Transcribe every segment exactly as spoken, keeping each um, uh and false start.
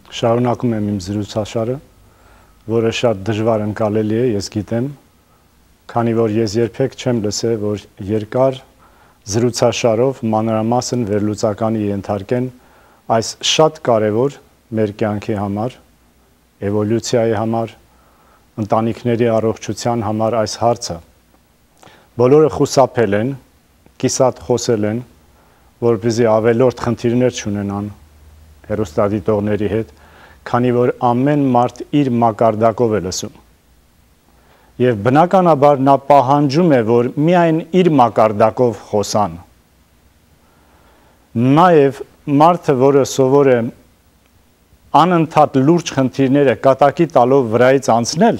Շարունակում եմ իմ զրուցաշարը, որը շատ դժվար ընկալելի է, ես գիտեմ, քանի որ ես երբեք չեմ լսել, որ երկար զրուցաշարով մանրամասն վերլուծականի ենթարկեն այս շատ կարևոր մեր կյանքի համար, էվոլյուցիայի համար, ընտանիքների առողջության համար այս հարցը։ Բոլորը խուսափել են, կիսատ խոսել են, որպեսզի ավելորդ խնդիրներ չունենան հեռուստադիտողների հետ, քանի որ ամեն մարդ իր մակարդակով է լսում։ Եվ բնականաբար նա պահանջում է, որ միայն իր մակարդակով խոսան։ Նաև մարդը, որը սովոր է անընդհատ լուրջ խնդիրները կատակի տալով վրայից անցնել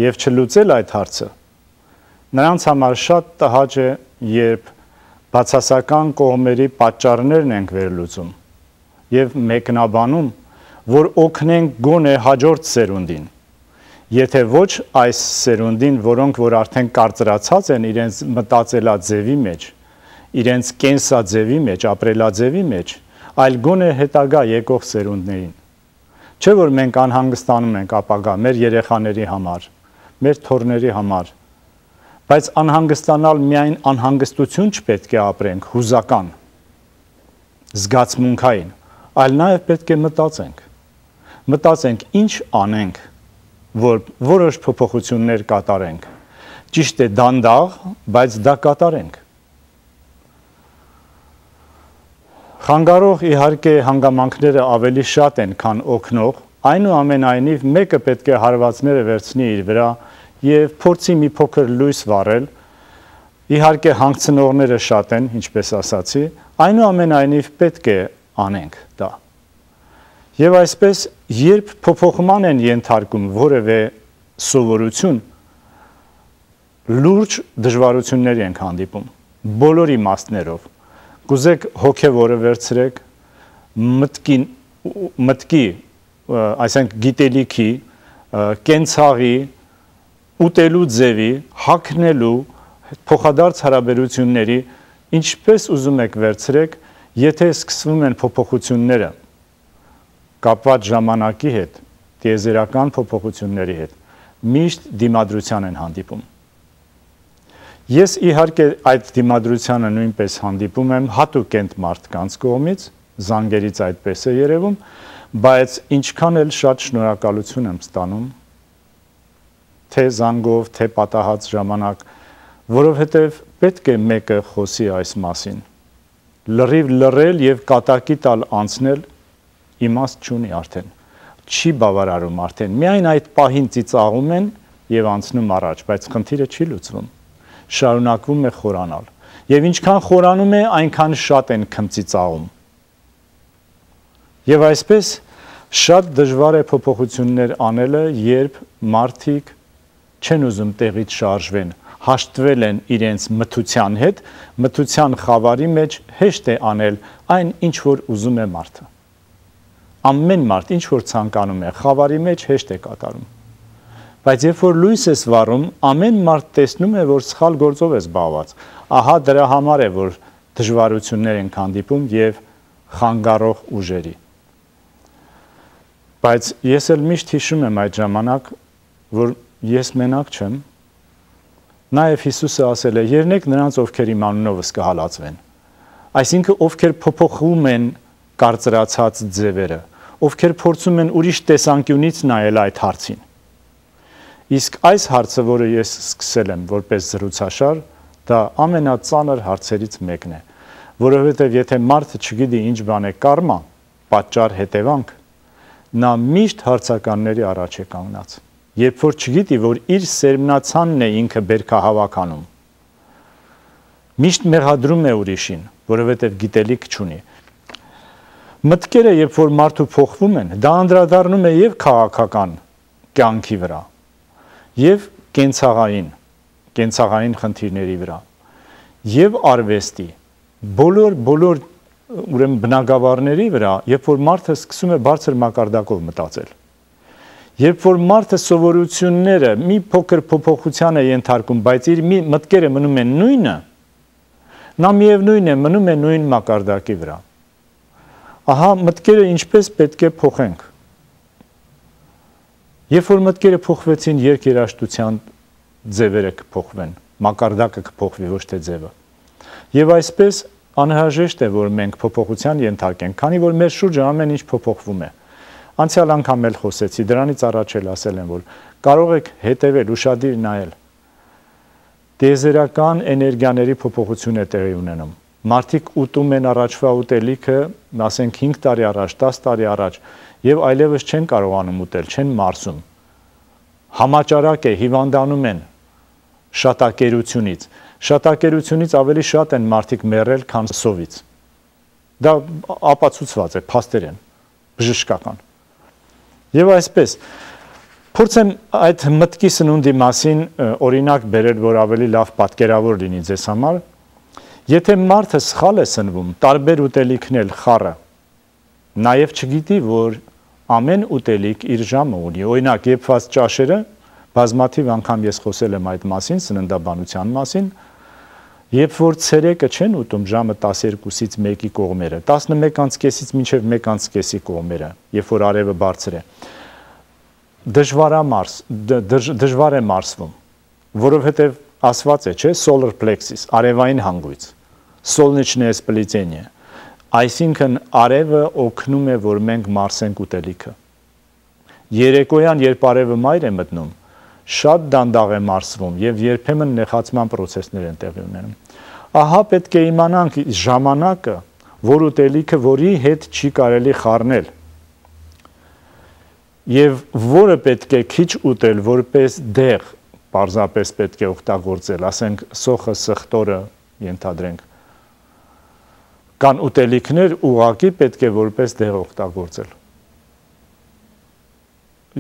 եւ չլուծել այդ հարցը, նրանց համար շատ տհաճ է, երբ բացասական կողմերի պատճառներն ենք վերլուծում եւ մեկնաբանում, որ օգնենք գոնե հաջորդ սերունդին, եթե ոչ այս սերունդին, որոնք որ արդեն կարծրացած են իրենց մտածելաձևի մեջ, իրենց կենսաձևի մեջ, ապրելաձևի մեջ, այլ գոնե հետագա եկող սերունդներին։ Չէ՞ որ մենք անհանգստանում ենք ապագա մեր երեխաների համար, մեր թոռների համար, բայց անհանգստանալ միայն անհանգստություն չպետք է ապրենք, հուզական, զգացմունքային, այլ նաև պետք է մտածենք։ Մտածենք ինչ անենք, որ որոշ փոփոխություններ կատարենք։ Ճիշտ է դանդաղ, բայց դա կատարենք։ Խանգարող իհարկե հանգամանքները ավելի շատ են, քան օգնող, այնուամենայնիվ մեկը պետք է հարվածները վերցնի իր վրա եւ փորձի մի փոքր լույս վառել։ Իհարկե հանգցնողները շատ են, ինչպես ասացի, այնուամենայնիվ պետք է անենք դա։ Եվ այսպես, երբ փոփոխման են ենթարկում որևէ սովորություն, լուրջ դժվարությունների ենք հանդիպում, բոլոր իմաստներով։ Կուզեք հոգևորը վերցրեք, մտքի, մտքի, այսինքն գիտելիքի, կենցաղի, ուտելու ձևի, հագնելու, փոխադարձ հարաբերությունների, ինչպես ուզում եք վերցրեք, եթե սկսվում են փոփոխությունները կապված ժամանակի հետ, տիեզերական փոփոխությունների հետ, միշտ դիմադրության են հանդիպում։ Ես իհարկե այդ դիմադրությանը նույնպես հանդիպում եմ հատուկենտ մարդկանց կողմից, զանգերից այդպես է երևում, բայց ինչքան էլ շատ շնորհակալություն եմ ստանում, թե զանգով, թե պատահած ժամանակ, որովհետև պետք է մեկը խոսի այս մասին։ Լրիվ լռել եւ կատակի տալ անցնել իմաստ չունի արդեն, չի բավարարում արդեն, միայն այդ պահին ծիծաղում են եւ անցնում առաջ, բայց խնդիրը չի լուծվում, շարունակվում է խորանալ, եւ ինչքան խորանում է, այնքան շատ են քմծիծաղում։ Եվ այսպես շատ դժվար է փոփոխություններ անելը, երբ մարդիկ չեն ուզում տեղից շարժվեն, հաշտվել են իրենց մթության հետ, մթության խավարի մեջ հեշտ է անել այն, ինչ որ ուզում է մարդը։ Ամեն մարդ ինչ որ ցանկանում է, խավարի մեջ հեշտ է կատարում։ Բայց երբ որ լույս ես վառում, ամեն մարդ տեսնում է, որ սխալ գործով է զբաղված։ Ահա դրա համար է, որ դժվարություններ են հանդիպում եւ խանգարող ուժերի։ Բայց ես էլ միշտ հիշում եմ այդ ժամանակ, որ ես մենակ չեմ։ Նաեւ Հիսուսը ասել է. «Ելնեք նրանց, ովքեր իմ անունովս կհալածվեն»։ Այսինքն ովքեր փոփոխում են կարծրացած ձևերը, ովքեր փորձում են ուրիշ տեսանկյունից նայել այդ հարցին։ Իսկ այս հարցը, որը ես սկսել եմ որպես զրուցաշար, դա ամենածանր հարցերից մեկն է, որովհետև եթե մարդը չգիտի ինչ բան է կարմա, պատճառ հետևանք, նա միշտ հարցականների առաջ է կանգնած։ Երբ որ չգիտի, որ իր սերմնացանն է ինքը բերքահավաքանում, միշտ մեղադրում է ուրիշին, որովհետև գիտելիք չունի։ Մտքերը, երբ որ մարդու փոխվում են, դա անդրադառնում է եւ քաղաքական կյանքի վրա, եւ կենցաղային, կենցաղային խնդիրների վրա, եւ արվեստի, բոլոր բոլոր ուրեմն բնագավառների վրա, երբ որ մարդը սկսում է բարձր մակարդակով մտածել։ Երբ որ մարդը սովորությունները մի փոքր փոփոխության է ենթարկում, բայց իր մի մտքերը մնում են նույնը, նա միևնույն է մնում է նույն մակարդակի վրա։ Ահա մտքերը ինչպես պետք է փոխենք։ Երբ որ մտքերը փոխվեցին, երկերաշտության ձևերը կփոխվեն, մակարդակը կփոխվի, ոչ թե ձևը։ Եվ այսպես անհրաժեշտ է, որ մենք փոփոխության ենթարկենք, քանի որ մեր շուրջը ամեն ինչ փոփոխվում է։ Անցյալ անգամ էլ խոսեցի, դրանից առաջ էլ ասել եմ, որ կարող եք հետևել, ուշադիր նայել։ Տիեզերական էներգիաների փոփոխություն է տեղի ունենում։ Մարդիկ ուտում են առաջվա ուտելիքը, ասենք հինգ տարի առաջ, դաս տարի առաջ, եւ այլևս չեն կարողանում ուտել, չեն մարսում։ Համաճարակ է, հիվանդանում են շատակերությունից։ Շատակերությունից ավելի շատ են մարդիկ մեռել, քան սովից։ Դա ապացուցված է, փաստեր են, բժշկական։ Եվ այսպես, փորձեմ այդ մտքի սնունդի մասին օրինակ բերել, որ ավելի լավ պատկերավոր լինի ձեզ համար։ Եթե մարդը սխալ է սնվում, տարբեր ուտելիքն էլ խառը, նաև չգիտի, որ ամեն ուտելիք իր ժամը ունի։ Օրինակ, եփված ճաշերը, բազմաթիվ անգամ ես խոսել եմ այդ մասին, սննդաբանության մասին, երբ որ ցերեկը չեն ուտում ժամը տասներկուսից մեկի կողմերը, տասնմեկ կեսից մինչև մեկ կեսի կողմերը, երբ որ արևը բարձր է, դժվար է մարս, դժվար է մարսվում, որովհետև ասված է, չէ, solar plexus, արևային հանգույց, солнечное сплетение, այսինքն արևը օգնում է, որ մենք մարսենք ուտելիքը։ Երեկոյան, երբ արևը մայր է մտնում, շատ դանդաղ է մարսվում եւ երբեմն նեխացման պրոցեսներ են տեղի ունենում։ Ահա պետք է իմանանք ժամանակը, որ ուտելիքը, որի հետ չի կարելի խառնել, եւ որը պետք է քիչ ուտել, որպես դեղ, պարզապես պետք է օգտագործել, ասենք սոխը, սխտորը, ենթադրենք, կան ուտելիքներ ուղղակի պետք է որպես դեղ օգտագործել։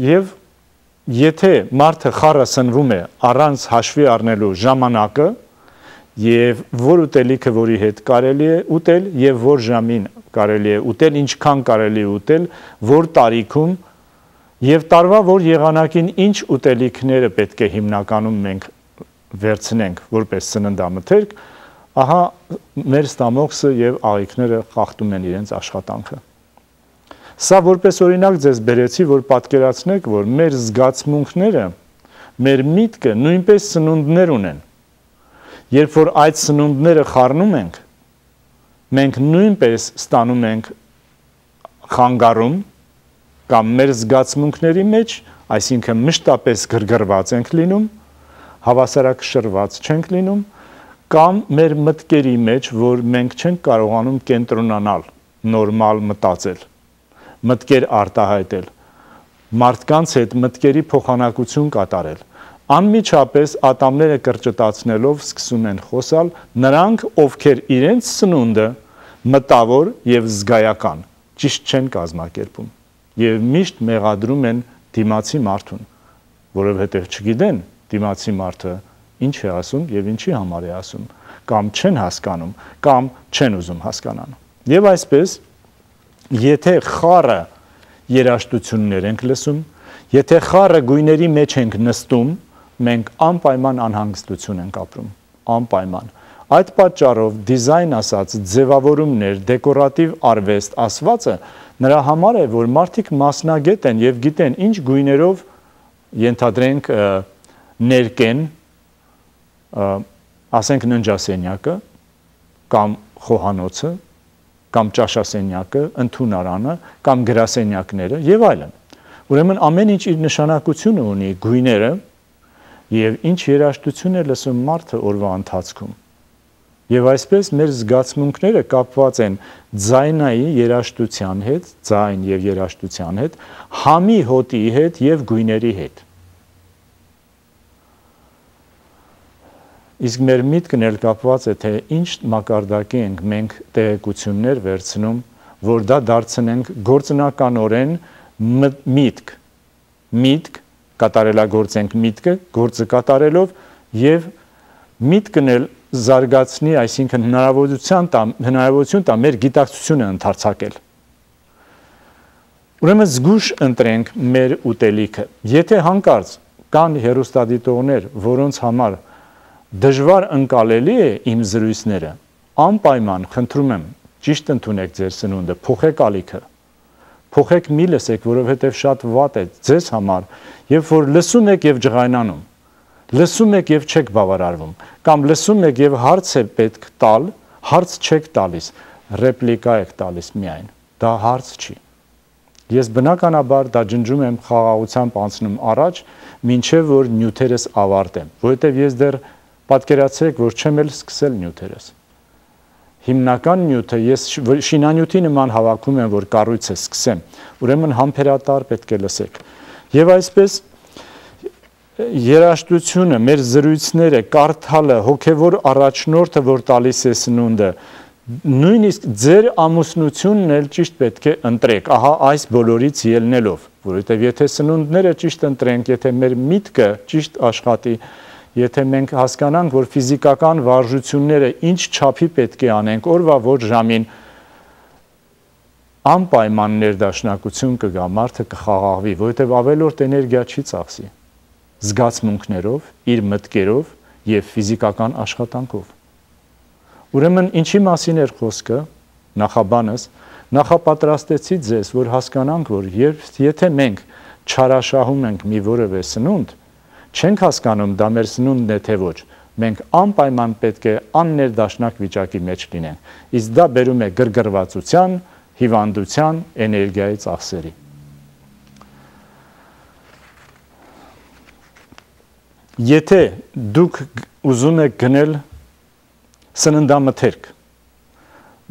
Եվ եթե մարդը խառը սնվում է առանց հաշվի առնելու ժամանակը եւ որ ուտելիքը, որի հետ կարելի է ուտել եւ որ ժամին կարելի է ուտել, ինչքան կարելի է ուտել, որ տարիքում եւ տարվա որ եղանակին ինչ ուտելիքները պետք է հիմնականում մենք վերցնենք որպես սննդամթերք, ահա մեր ստամոքսը եւ աղիքները խախտում են իրենց աշխատանքը։ Սա որպես օրինակ ձեզ բերեցի, որ պատկերացնեք, որ մեր զգացմունքները, մեր միտքը նույնպես սնունդներ ունեն։ Երբ որ այդ սնունդները խառնում ենք, մենք նույնպես ստանում ենք խանգարում կամ մեր զգացմունքների մեջ, այսինքն մշտապես գրգռված ենք լինում, հավասարակշռված չենք լինում, կամ մեր մտքերի մեջ, որ մենք չենք կարողանում կենտրոնանալ, նորմալ մտածել, մտքեր արտահայտել, մարդկանց հետ մտքերի փոխանակություն կատարել, անմիջապես ատամները կրճտացնելով սկսում են խոսալ նրանք, ովքեր իրենց սնունդը մտավոր եւ զգայական ճիշտ չեն կազմակերպում եւ միշտ մեղադրում են դիմացի մարդուն, որովհետեւ չգիտեն դիմացի մարդը ինչ է ասում եւ ինչի համար է ասում, կամ չեն հասկանում, կամ չեն ուզում հասկանան։ Եվ այսպես, եթե խառը երաժշտություններ ենք լսում, եթե խառը գույների մեջ ենք նստում, մենք անպայման անհանգստություն ենք ապրում, անպայման։ Այդ պատճառով դիզայն ասած ձևավորումներ, դեկորատիվ արվեստ ասվածը նրա համար է, որ մարդիկ մասնագետ են եւ գիտեն ինչ գույներով ենթադրենք ներկեն, ասենք ննջասենյակը, կամ խոհանոցը, կամ ճաշասենյակը, ընդունարանը, կամ գրասենյակները եւ այլն։ Ուրեմն ամեն ինչ իր նշանակությունը ունի, գույները եւ ինչ երաժշտություն է լսում մարդը օրվա ընթացքում։ Եվ այսպես մեր զգացմունքները կապված են ձայնայի երաժշտության հետ, ձայն եւ երաժշտության հետ, համի հոտի հետ եւ գույների հետ։ Իսկ մեր միտքն էլ կապված է, թե ինչ մակարդակի ենք մենք տեղեկություններ վերցնում, որ դա դարձնենք գործնականորեն միտք, միտք, կատարելագործենք միտքը, գործը կատարելով եւ միտքն էլ զարգացնի, այսինքն հնարավորություն տա, հնարավորություն տա մեր գիտակցությունը ընդարձակել։ Ուրեմն զգուշ ընտրենք մեր ուտելիքը։ Եթե հանկարծ կան հեռուստադիտողներ, որոնց համար դժվար ընկալելի է իմ զրույցները, անպայման խնդրում եմ, ճիշտ ընդունեք ձեր սնունդը, փոխեք ալիքը։ Փոխեք մի լսեք, որովհետև շատ վատ է ձեզ համար, երբ որ լսում եք եւ ջղայնանում, լսում եք եւ չեք բավարարվում, կամ լսում եք եւ հարց է պետք տալ, հարց չեք տալիս, ռեպլիկա եք տալիս միայն, դա հարց չի։ Ես բնականաբար դա ջնջում եմ խաղաղությամբ անցնում առաջ, մինչև որ նյութերս ավարտեմ, որովհետև ես դեռ պատկերացրեք, որ չեմ էլ սկսել նյութերս։ Հիմնական նյութը ես շինանյութի նման հավաքում եմ, որ կառույցը սկսեմ, ուրեմն համբերատար պետք է լսեք։ Եվ այսպես երաժշտությունը, մեր զրույցները, կարդալը, հոգևոր առաջնորդը, որ տալիս է սնունդը, նույնիսկ ձեր ամուսնությունն էլ ճիշտ պետք է ընտրեք, ահա այս բոլորից ելնելով, որովհետև եթե սնունդները ճիշտ ընտրենք, եթե մեր միտքը ճիշտ աշխատի, եթե մենք հասկանանք, որ ֆիզիկական վարժությունները ինչ չափի պետք է անենք, օրվա որ ժամին անպայման ներդաշնակություն կգա, մարդը կխաղաղվի, որովհետև ավելորդ էներգիա չի ծախսի, զգացմունքներով, իր մտքերով եւ ֆիզիկական աշխատանքով։ Ուրեմն ինչի մասին էր խոսքը, նախաբանս, նախապատրաստեցի ձեզ, որ հասկանանք, որ երբ եթե մենք չարաշահում ենք մի որևէ սնունդ, չենք հասկանում դա մեր սնունդն է թե ոչ, մենք անպայման պետք է աններդաշնակ վիճակի մեջ լինենք, իսկ դա բերում է գրգռվածության, հիվանդության, էներգիայի ծախսերի։ Եթե դուք ուզում եք գնել սննդամթերք,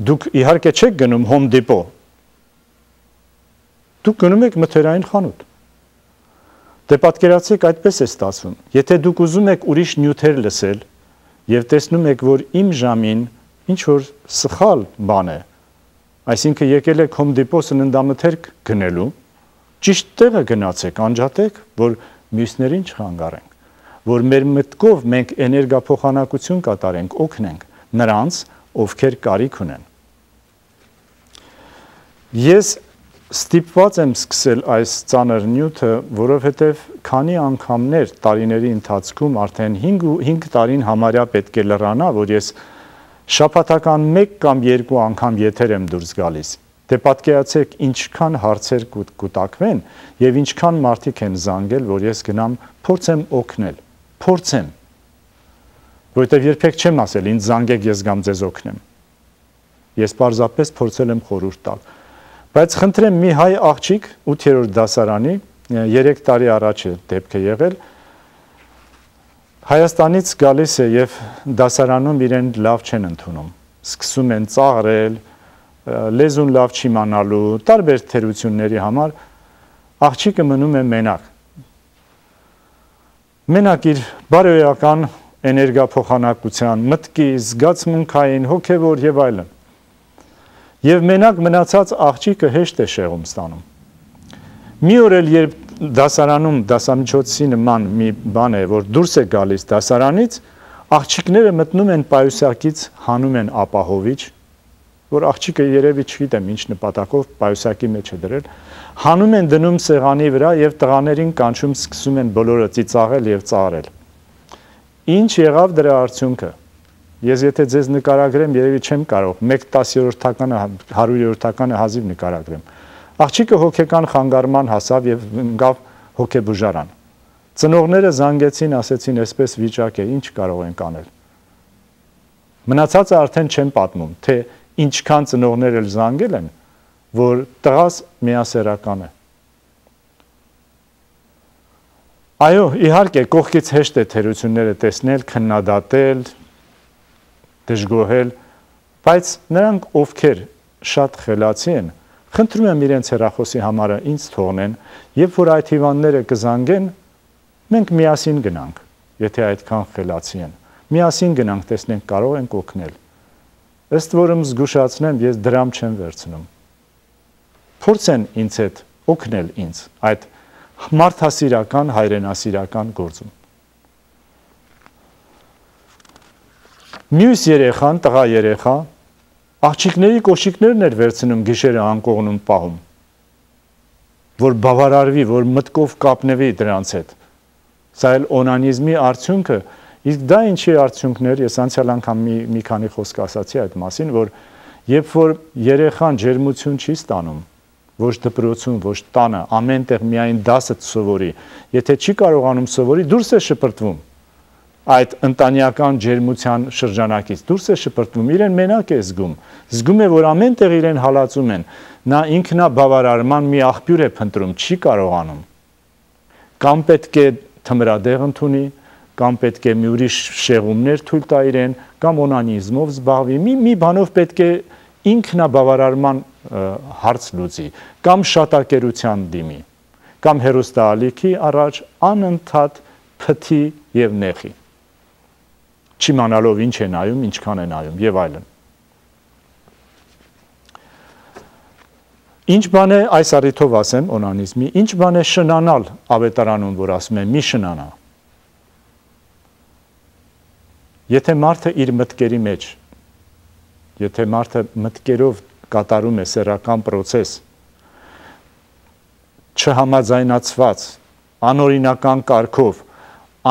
դուք իհարկե չեք գնում Home Depot, դուք գնում եք մթերային խանութ, դե պատկերացրեք այդպես է ստացվում, եթե դուք ուզում եք ուրիշ նյութեր լսել և տեսնում եք, որ իմ ժամին ինչ-որ սխալ բան է, այսինքն եկել եք Home Depot սննդամթերք գնելու, ճիշտ տեղը գնացեք, անջատեք, որ մյուսներին չխանգարենք, որ մեր մտքով մենք էներգափոխանակություն կատարենք, օգնենք նրանց, ովքեր կարիք ունեն։ Ես ստիպված եմ սկսել այս ծանր նյութը, որովհետև քանի անգամներ տարիների ընթացքում արդեն հինգ տարին համարյա պետք է լրանա, որ ես շաբաթական մեկ կամ երկու անգամ եթեր եմ դուրս գալիս։ Դե պատկերացրեք ինչքան հարցեր կուտակվեն եւ ինչքան մարդիկ են զանգել, որ ես գնամ փորձեմ օգնել, փորձեմ, որովհետեւ երբեք չեմ ասել ինձ զանգեք, ես գամ ձեզ օգնեմ։ Ես պարզապես փորձել եմ խորհուրդ տալ։ Բայց խնդրեմ մի հայ աղջիկ ութերորդ դասարանի երեք տարի առաջ է դեպքը եղել, Հայաստանից գալիս է եւ դասարանում իրեն լավ չեն ընդունում, սկսում են ծաղրել, լեզուն լավ չիմանալու, տարբեր թերությունների համար աղջիկը մնում է մենակ։ Մենակ իր բարոյական էներգափոխանակության, մտքի, զգացմունքային, հոգևոր եւ այլն։ Եվ մենակ մնացած աղջիկը հեշտ է շեղում ստանում։ Մի օր էլ երբ դասարանում դասամիջոցի նման մի բան է, որ դուրս է գալիս դասարանից, աղջիկները մտնում են պայուսակից, հանում են ապահովիչ, որ աղջիկը երևի չգիտեմ ինչ նպատակով պայուսակի մեջ է դրել, հանում են դնում սեղանի վրա եւ տղաներին կանչում սկսում են բոլորը ծիծաղել եւ ծաղրել։ Ինչ եղավ դրա արդյունքը։ Ես եթե ձեզ նկարագրեմ, երևի չեմ կարող մեկ տասնյոթերորդականը, հարյուրյոթերորդականը հազիվ նկարագրեմ։ Աղջիկը հոգեկան խանգարման հասավ եւ ընկավ հոգեբուժարան։ Ծնողները զանգեցին, ասեցին, այսպես վիճակ է, ինչ կարող ենք անել։ Մնացածը արդեն չեմ պատմում, թե ինչքան ծնողներ էլ զանգել են, որ տղաս միասեռական է։ Այո, իհարկե, կողքից հեշտ է թերությունները տեսնել, քննադատել, դժգոհել, բայց նրանք, ովքեր շատ խելացի են, խնդրում եմ իրենց հեռախոսի համարը ինձ թողնեն, երբ որ այդ հիվանդները կզանգեն, մենք միասին գնանք, եթե այդքան խելացի են։ Միասին գնանք, տեսնենք կարող ենք օգնել։ Ըստ որում զգուշացնեմ, ես դրամ չեմ վերցնում։ Փորձեն ինձ հետ օգնել ինձ այդ մարդասիրական, հայրենասիրական գործում։ Մյուս երեխան, տղա երեխա, աղջիկների կոշիկներն էր վերցնում գիշերը անկողնում պահում, որ բավարարվի, որ մտքով կապնվի դրանց հետ։ Սա էլ օնանիզմի արդյունքը, իսկ դա ինչի արդյունքներ, ես անցյալ անգամ մի, մի քանի խոսք ասացի այդ մասին, որ Երբ որ երեխան ջերմություն չի ստանում, ոչ դպրոցում, ոչ տանը, ամենտեղ միայն դասը սովորի, եթե չի կարողանում սովորի, դուրս է շպրտվում այդ ընտանեկան ջերմության շրջանակից, դուրս է շպրտվում, իրեն մենակ է զգում, զգում է, որ ամենտեղ իրեն հալածում են, նա ինքնաբավարարման մի աղբյուր է փնտրում, չի կարողանում, կամ պետք է թմրադեղ ընդունի, կամ պետք է մի ուրիշ շեղումներ թույլ տա իրեն, կամ օնանիզմով զբաղվի, մի, մի բանով պետք է ինքնաբավարարման հարց լուծի, կամ շատակերության դիմի, կամ հեռուստաալիքի առաջ անընդհատ փթի եւ նեղի, չիմանալով ինչ է նայում, ինչքան է նայում եւ այլն։ Ինչ բան է այս առիթով ասեմ օնանիզմի, ինչ բան է շնանալ ավետարանում, որ ասում է մի շնանա։ Եթե մարդը իր մտքերի մեջ, եթե մարդը մտքերով կատարում է սեռական պրոցես, չհամաձայնացված, անօրինական կարգով,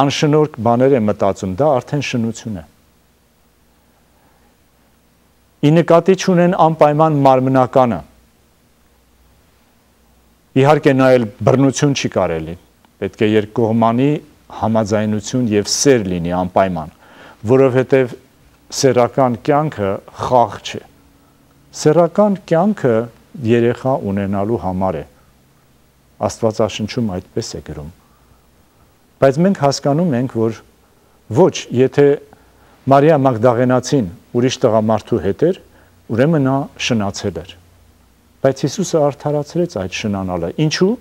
անշնորհք բաներ է մտածում, դա արդեն շնություն է։ Ի նկատի չունեն անպայման մարմնականը։ Իհարկե նայել բռնություն չի կարելի, պետք է երկկողմանի համաձայնություն եւ սեր լինի անպայման, որովհետեւ սեռական կյանքը խաղ չէ։ Սեռական կյանքը երեխա ունենալու համար է։ Աստվածաշնչում այդպես է գրում։ Բայց մենք հասկանում ենք, որ ոչ, եթե Մարիա Մագդաղենացին ուրիշ տղամարդու հետ էր, ուրեմն նա շնացել էր։ Բայց Հիսուսը արդարացրեց այդ շնանալը։ Ինչու՞։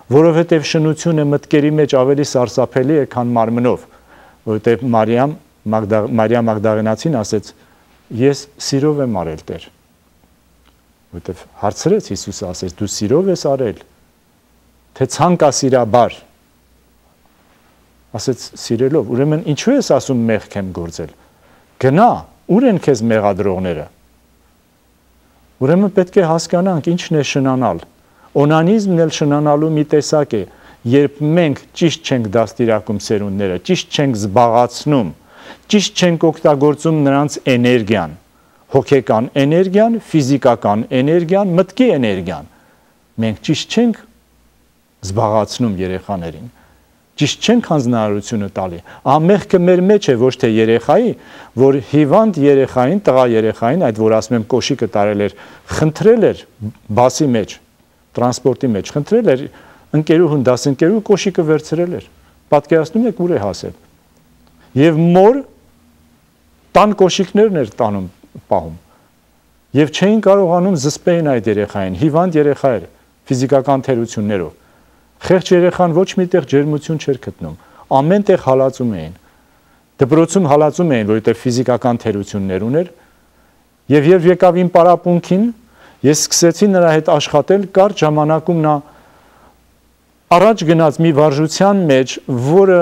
Որովհետև շնությունը մտքերի մեջ ավելի սարսափելի է, քան մարմնով, որովհետև Մարիամ Մարիա Մագդաղենացին ասեց. ես սիրով եմ արել Տեր։ Որովհետև հարցրեց Հիսուսը, ասեց. դու սիրով ես արել, թե ցանկասիրաբար։ Ասեց սիրելով, ուրեմն ինչու ես ասում մեղք եմ գործել։ Գնա, ուր են քեզ մեղադրողները։ Ուրեմն պետք է հասկանանք ինչն է շնանալ։ Օնանիզմն էլ շնանալու մի տեսակ է, երբ մենք ճիշտ չենք դաստիարակում սերունդները, ճիշտ չենք զբաղացնում, ճիշտ չենք օգտագործում նրանց էներգիան, հոգեկան էներգիան, ֆիզիկական էներգիան, մտքի էներգիան։ Մենք ճիշտ չենք զբաղացնում երեխաներին, ճիշտ չենք հանձնարարությունը տալի։ Ամեղքը մեր մեջ է, ոչ թե երեխայի, որ հիվանդ երեխային, տղա երեխային, այդ որ ասում եմ կոշիկը տարել էր, խնդրել էր բասի մեջ, տրանսպորտի մեջ, խնդրել էր ընկերուհուն, դասընկերուհու կոշիկը վերցրել էր։ Պատկերացնում եք ուր է հասել։ Եվ մոր տան կոշիկներն էր տանում պահում։ Եվ չէին կարողանում զսպեին այդ երեխային, հիվանդ երեխա էր, ֆիզիկական թերություններով։ Խեղճ երեխան ոչ միտեղ ջերմություն չէր գտնում, ամեն տեղ հալածում էին։ Դպրոցում հալածում էին, որովհետև ֆիզիկական թերություններ ուներ, եւ երբ եկավ իմ պարապմունքին, ես սկսեցի նրա հետ աշխատել, կարճ ժամանակում նա առաջ գնաց մի վարժության մեջ, որը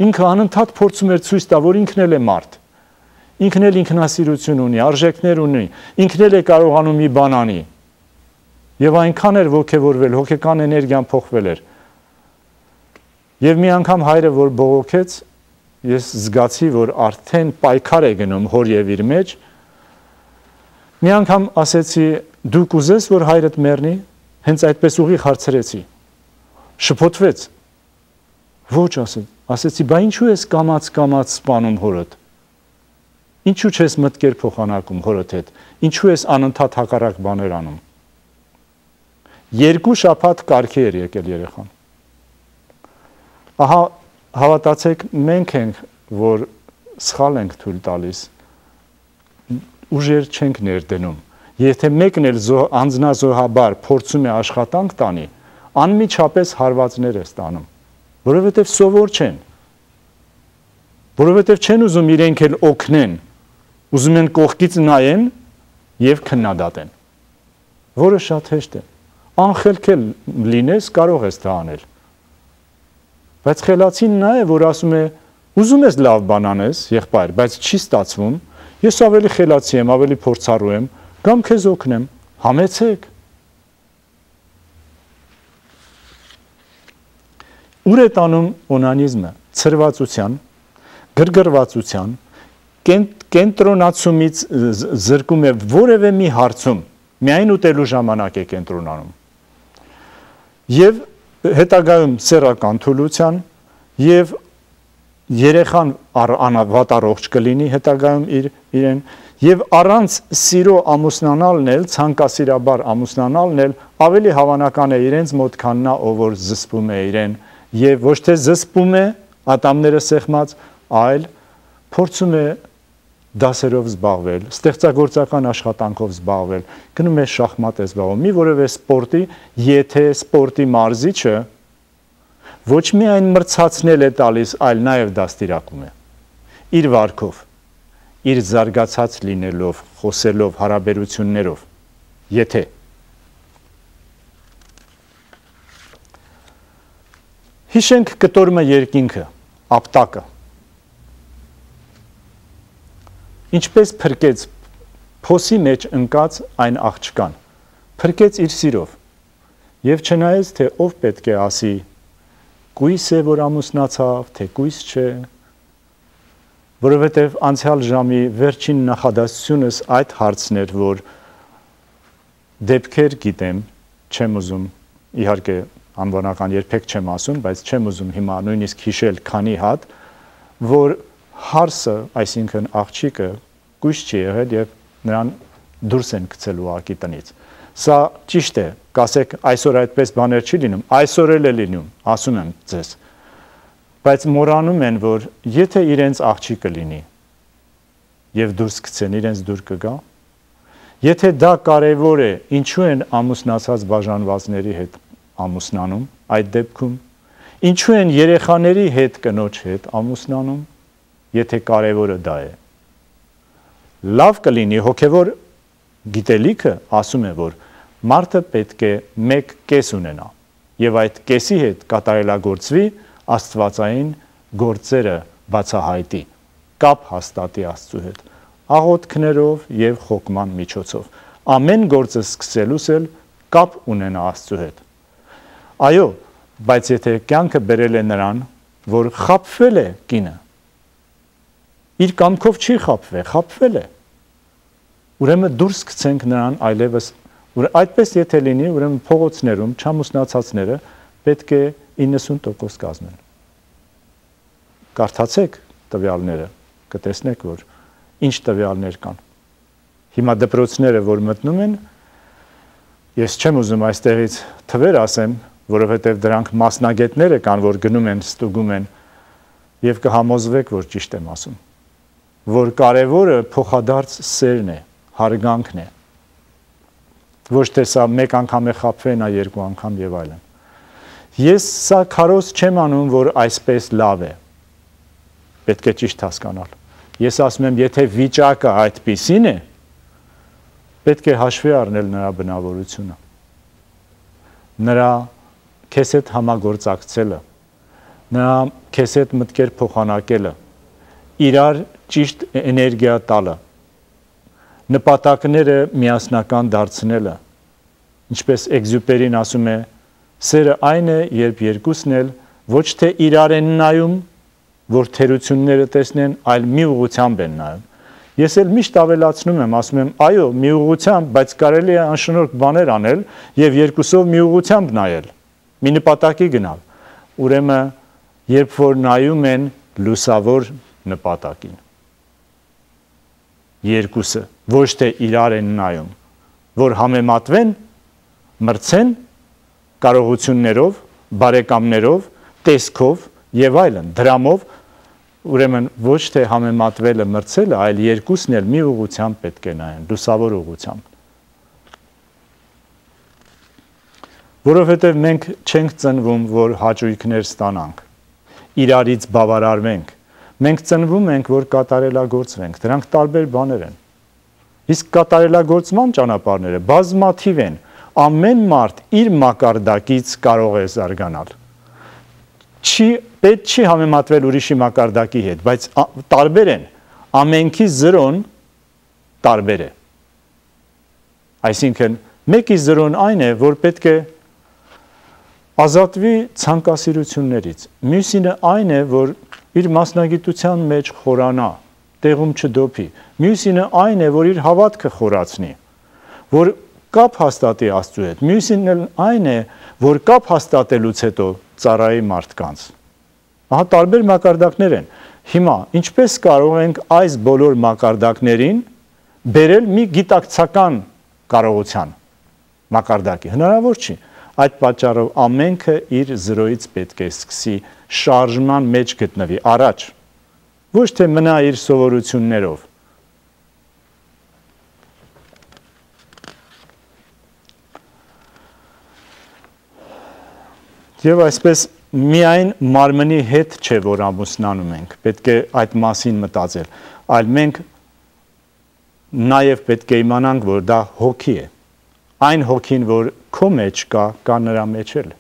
ինքը անընդհատ փորձում էր ցույց տա, որ ինքն էլ է մարդ։ Ինքն էլ ինքնասիրություն ունի, արժեքներ ունի, ինքն էլ է կարողանում մի բան անի։ Եվ այնքան էր ոգևորվել, հոգեկան էներգիան փոխվել էր։ Եվ մի անգամ հայրը, որ բողոքեց, ես զգացի, որ արդեն պայքար է գնում հոր եւ իր մեջ։ Մի անգամ ասեցի, դու կուզես, որ հայրդ մեռնի, հենց այդպես ուղիղ հարցրեցի։ Շփոթվեց։ Ոչ, ասեց, ասեցի, բա ինչու ես կամաց-կամաց սպանում հորդ։ Ինչու չես մտքեր փոխանակում հորդ հետ։ Ինչու ես անընդհատ հակառակ բաներ անում։ Երկու շաբաթ կարգի էր եկել երեխան։ Ահա հավատացեք, մենք ենք, որ սխալ ենք թույլ տալիս, ուժեր չենք ներդնում։ Եթե մեկն էլ անձնազոհաբար փորձում է աշխատանք տանի, անմիջապես հարվածներ է ստանում, որովհետև սովոր չեն, որովհետև չեն ուզում իրենք էլ օգնեն, ուզում են կողքից նայեն եւ քննադատեն, որը շատ հեշտ է։ Անխելք էլ լինես, կարող ես դա անել։ Բայց խելացին նա է, որ ասում է, ուզում ես լավ բան անես, եղբայր, բայց չի ստացվում, ես ավելի խելացի եմ, ավելի փորձառու եմ, կամ քեզ օգնեմ, համեցեք։ Ուր է տանում օնանիզմը, ցրվածության, գրգռվածության, կենտրոնացումից զրկում է որևէ մի հարցում, միայն ուտելու ժամանակ է կենտրոնանում։ Եվ հետագայում սեռական թուլության եւ երեխան անավատ առողջ կլինի հետագայում իր իրեն եւ առանց սիրո ամուսնանալն էլ ցանկասիրաբար ամուսնանալն էլ ավելի հավանական է իրենց մոտ քան նա ով որ զսպում է իրեն եւ ոչ թե զսպում է ատամները սեղմած, այլ փորձում է դասերով զբաղվել, ստեղծագործական աշխատանքով զբաղվել, գնում է շախմատ է զբաղվում, մի որևէ սպորտի, եթե սպորտի մարզիչը ոչ միայն մրցացնել է տալիս, այլ նաև դաստիարակում է իր վարքով, իր զարգացած լինելով, խոսելով, հարաբերություններով, եթե հիշենք կտորմը երկինքը, ապտակը, ինչպես փրկեց փոսի մեջ ընկած այն աղջկան, փրկեց իր սիրով, եւ չնայեց, թե ով պետք է ասի, կույս է, որ ամուսնացավ, թե կույս չէ, որովհետև անցյալ ժամի վերջին նախադասությունս այդ հարցն էր, որ դեպքեր գիտեմ, չեմ ուզում, իհարկե անվանական երբեք չեմ ասում, բայց չեմ ուզում հիմա նույնիսկ հիշել քանի հատ, որ հարսը, այսինքն աղջիկը կույս չի եղել եւ նրան դուրս են գցել ուղակի տնից։ Սա ճիշտ է, կասեք այսօր այդպես բաներ չի լինում, այսօր էլ է լինում, ասում եմ ձեզ։ Բայց մոռանում են, որ եթե իրենց աղջիկը լինի եւ դուրս գցեն, իրենց դուր կգա։ Եթե դա կարեւոր է, ինչու են ամուսնացած բաժանվածների հետ ամուսնանում այդ դեպքում, ինչու են երեխաների հետ կնոջ հետ ամուսնանում, եթե կարևորը դա է։ Լավ կլինի հոգևոր գիտելիքը ասում է, որ մարդը պետք է մեկ կես ունենա եւ այդ կեսի հետ կատարելագործվի աստվածային գործերը բացահայտի, կապ հաստատի Աստծու հետ, աղոթքներով եւ խոկման միջոցով։ Ամեն գործը սկսելուց էլ կապ ունենա Աստծու հետ։ Այո, բայց եթե կյանքը բերել է նրան, որ խաբվել է կինը, իր կամքով չի խաբվել, խաբվել է։ Ուրեմն դուրս գցենք նրան այլևս, այդպես եթե լինի, ուրեմն փողոցներում չամուսնացածները պետք է իննսուն տոկոս կազմեն։ Կարդացեք տվյալները, կտեսնեք, որ ինչ տվյալներ կան։ Հիմա դպրոցները, որ մտնում են, ես չեմ ուզում այստեղից թվեր ասեմ, որովհետև դրանք մասնագետները կան, որ գնում են, ստուգում են եւ կհամոզվեք, որ ճիշտ եմ ասում, որ կարևորը փոխադարձ սերն է, հարգանքն է։ Ոչ թե սա մեկ անգամ է խաբվել, նա երկու անգամ եւ այլն։ Ես սա քարոզ չեմ անում, որ այսպես լավ է։ Պետք է ճիշտ հասկանալ։ Ես ասում եմ, եթե վիճակը այդպիսին է, պետք է հաշվի առնել նրա բնավորությունը։ Նրա քեզ հետ համագործակցելը, նրա քեզ հետ մտքեր փոխանակելը, իրար ճիշտ էներգիա տալը, նպատակները միասնական դարձնելը, ինչպես Էքզյուպերին ասում է, սերը այն է, երբ երկուսն էլ ոչ թե իրար են նայում, որ թերությունները տեսնեն, այլ մի ուղղությամբ են նայում։ Ես էլ միշտ ավելացնում եմ, ասում եմ, այո, մի ուղղությամբ, բայց կարելի է անշնորհք բաներ անել եւ երկուսով մի ուղղությամբ նայել, մի նպատակի գնալ։ Ուրեմն, երբ որ նայում են լուսավոր նպատակին, երկուսը, ոչ թե իրար են նայում, որ համեմատվեն, մրցեն կարողություններով, բարեկամներով, տեսքով եւ այլն, դրամով, ուրեմն ոչ թե համեմատվելը, մրցելը, այլ երկուսն էլ մի ուղղությամբ պետք է նայեն, լուսավոր ուղղությամբ։ Որովհետև մենք չենք ծնվում, որ հաճույքներ ստանանք, իրարից բավարարվենք, մենք ծնվում ենք, որ կատարելագործվենք, դրանք տարբեր բաներ են։ Իսկ կատարելագործման ճանապարհները բազմաթիվ են, ամեն մարդ իր մակարդակից կարող է զարգանալ։ Չի, պետք չի համեմատվել ուրիշի մակարդակի հետ, բայց տարբեր են, ամենքի զրոն տարբեր է։ Այսինքն, մեկի զրոն այն է, որ պետք է ազատվի ցանկասիրություններից, մյուսինը այն է, որ իր մասնագիտության մեջ խորանա, տեղում չդոփի։ Մյուսինը այն է, որ իր հավատքը խորացնի, որ կապ հաստատի Աստծու հետ։ Մյուսինն այն է, որ կապ հաստատելուց հետո ծառայի մարդկանց։ Ահա տարբեր մակարդակներ են։ Հիմա ինչպես կարող ենք այս բոլոր մակարդակներին բերել մի գիտակցական կարողության մակարդակի։ Հնարավոր չի։ Այդ պատճառով ամենքը իր զրոյից պետք է սկսի շարժման մեջ գտնվի առաջ, ոչ թե մնա իր սովորություններով։ Եվ այսպես միայն մարմնի հետ չէ, որ ամուսնանում ենք, պետք է այդ մասին մտածել, այլ մենք նաև պետք է իմանանք, որ դա հոգի է, այն հոգին, որ քո մեջ կա, կա նրա մեջ էլ,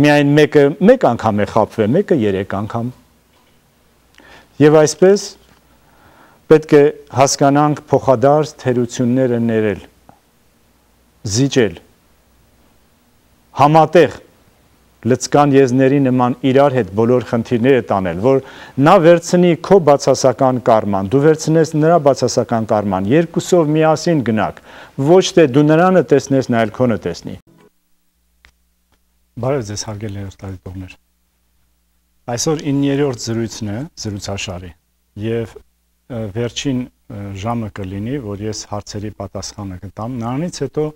միայն մեկը մեկ անգամ է խաբվել, մեկը երեք անգամ, և այսպես պետք է հասկանանք փոխադարձ թերությունները ներել, զիջել, համատեղ լծկան եզների նման իրար հետ բոլոր խնդիրները տանել, որ նա վերցնի քո բացասական կարման, դու վերցնես նրա բացասական կարման, երկուսով միասին գնաք, ոչ թե դու նրանը տեսնես, նա էլ քոնը տեսնի։ Բարև ձեզ հարգելի հեռուստադիտողներ։ Այսօր իններորդ զրույցն է, զրույցաշարի, եւ վերջին ժամը կլինի, որ ես հարցերի պատասխանը կտամ, նրանից հետո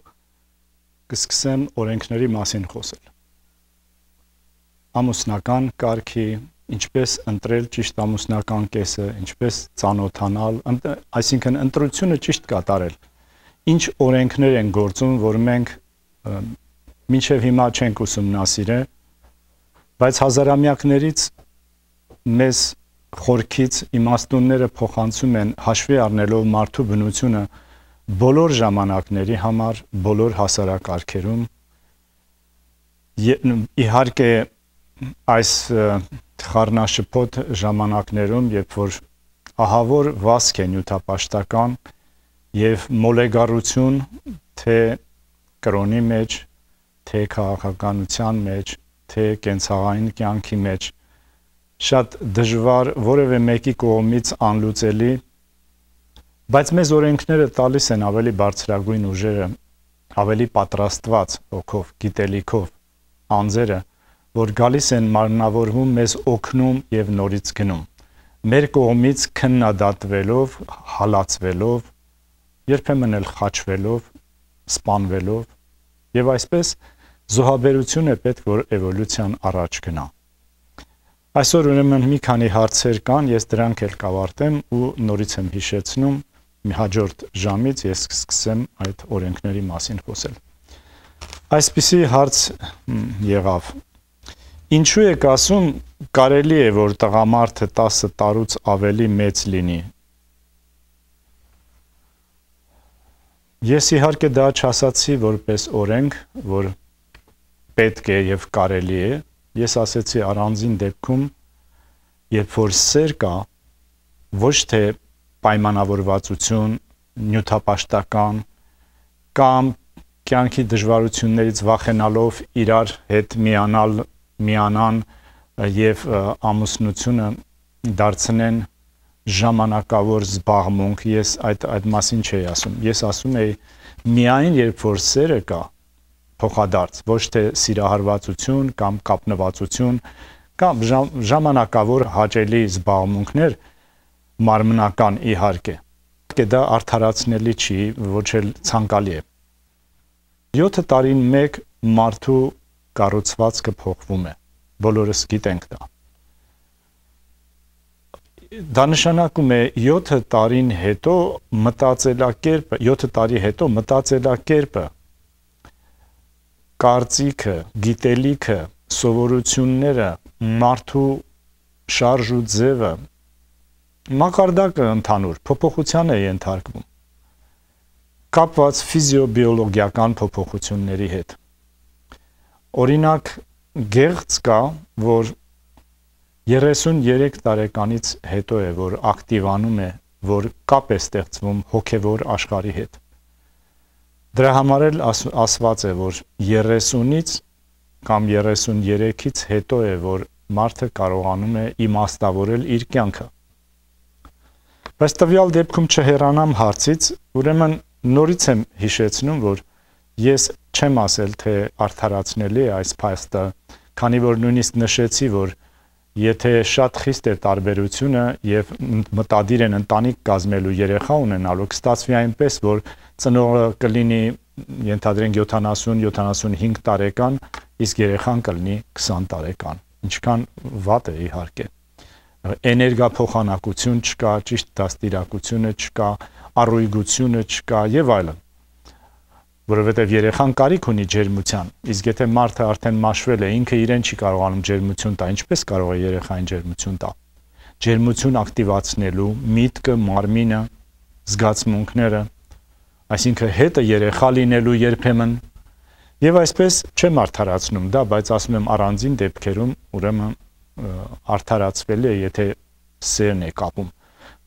կսկսեմ օրենքների մասին խոսել։ Ամուսնական կարգի, ինչպես ընտրել ճիշտ ամուսնական կեսը, ինչպես ծանոթանալ, այսինքն ընտրությունը ճիշտ կատարել։ Ինչ օրենքներ են գործում, որ մենք մինչև հիմա չենք ուսումնասիրել, բայց հազարամյակներից մեզ խորքից իմաստունները փոխանցում են հաշվի առնելով մարդու բնությունը բոլոր ժամանակների համար, բոլոր հասարակարգերում։ Իհարկե այս խառնաշփոթ ժամանակներում, երբ որ ահավոր վազք է նյութապաշտական եւ մոլեգարություն թե կրոնի մեջ, թե քաղաքականության մեջ, թե կենցաղային կյանքի մեջ, շատ դժվար որևէ մեկի կողմից անլուծելի, բայց մեզ օրենքները տալիս են ավելի բարձրագույն ուժերը, ավելի պատրաստված հոգով, գիտելիքով, անձերը, որ գալիս են մարմնավորվում, մեզ օգնում եւ նորից գնում։ Մեր կողմից քննադատվելով, հալածվելով, երբեմն էլ խաչվելով, սպանվելով, եւ այսպես զոհաբերությունը պետք որ էվոլյուցիան առաջ գնա։ Այսօր ուրեմն մի քանի հարցեր կան, ես դրանք էլ կավարտեմ ու նորից եմ հիշեցնում, մի հաջորդ ժամից ես կսկսեմ այդ օրենքների մասին խոսել։ Այսպիսի հարց եղավ. Ինչու եք ասում, կարելի է, որ տղամարդը տասը տարուց ավելի մեծ լինի։ Ես իհարկե դա չասացի որպես օրենք, որ պետք է եւ կարելի է, ես ասեցի առանձին դեպքում, երբ որ սեր կա, ոչ թե պայմանավորվածություն, նյութապաշտական կամ կյանքի դժվարություններից վախենալով իրար հետ միանալ միանան եւ ամուսնությունը դարձնեն ժամանակավոր զբաղմունք, ես այդ այդ մասին չէի ասում, ես ասում եի միայն երբ որ սերը կա փոխադարձ, ոչ թե սիրահարվածություն կամ կապնվածություն կամ ժամանակավոր հաճելի զբաղմունքներ մարմնական իհարկե, դա արդարացնելի չի, ոչ էլ ցանկալի է։ յոթ տարին մեկ մարդու կառուցվածքը փոխվում է, բոլորս գիտենք դա։ Դա նշանակում է յոթ տարին հետո մտածելակերպը, յոթ տարի հետո մտածելակերպը, կարծիքը, գիտելիքը, սովորությունները, մարդու շարժ ու ձևը, մակարդակը ընդհանուր փոփոխության է ենթարկվում, կապված ֆիզիոբիոլոգիական փոփոխությունների հետ։ Օրինակ, գեղձ կա, որ երեսունյերեք տարեկանից հետո է, որ ակտիվանում է, որ կապ է ստեղծվում հոգևոր աշխարհի հետ։ Դրա համար էլ ասված է, որ երեսունից կամ երեսունյերեքից հետո է, որ մարդը կարողանում է իմաստավորել իր կյանքը։ Բայց տվյալ դեպքում չհեռանամ հարցից, ուրեմն նորից եմ հիշեցնում, որ ես չեմ ասել, թե արդարացնելի է այս փաստը, քանի որ նույնիսկ նշեցի, որ եթե շատ խիստ է տարբերությունը եւ մտադիր են ընտանիք կազմելու երեխա ունենալու, կստացվի այնպես, որ ծնողը կլինի ենթադրենք յոթանասուն յոթանասունհինգ տարեկան, իսկ երեխան կլինի քսան տարեկան։ Ինչքան վատ է իհարկե։ Էներգափոխանակություն չկա, ճիշտ դաստիարակությունը չկա, առույգությունը չկա եւ այլն։ Որովհետեւ երեխան կարիք ունի ջերմության, իսկ եթե մարդը արդեն մաշվել է, ինքը իրեն չի կարողանում ջերմություն տա, ինչպես կարող է երեխային ջերմություն տա։ Ջերմություն ակտիվացնելու միտքը, մարմինը, զգացմունքները, այսինքն հետը երեխա լինելու երբեմն եւ այսպես չեմ արդարացնում դա, բայց ասում եմ առանձին դեպքերում ուրեմն արդարացվելի է, եթե սերն է կապում,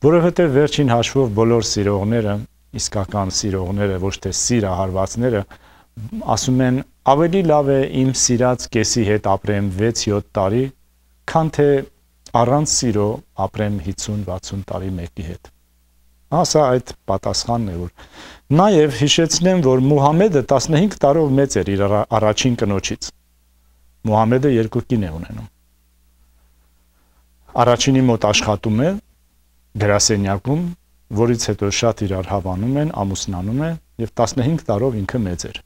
որովհետև վերջին հաշվով բոլոր սիրողները, իսկական սիրողները, ոչ թե սիրահարվածները, ասում են ավելի լավ է իմ սիրած կեսի հետ ապրեմ վեց-յոթ տարի, քան թե առանց սիրո ապրեմ հիսուն-վաթսուն տարի մեկի հետ։ Ասա այդ պատասխանն է, որ նաև հիշեցնեմ, որ Մուհամեդը տասնհինգ տարով մեծ էր իր առաջին կնոջից։ Մուհամեդը երկու կին է ունենում։ Առաջինի մոտ աշխատում է գրասենյակում, որից հետո շատ իրար հավանում են, ամուսնանում է եւ տասնհինգ տարով ինքը մեծ էր։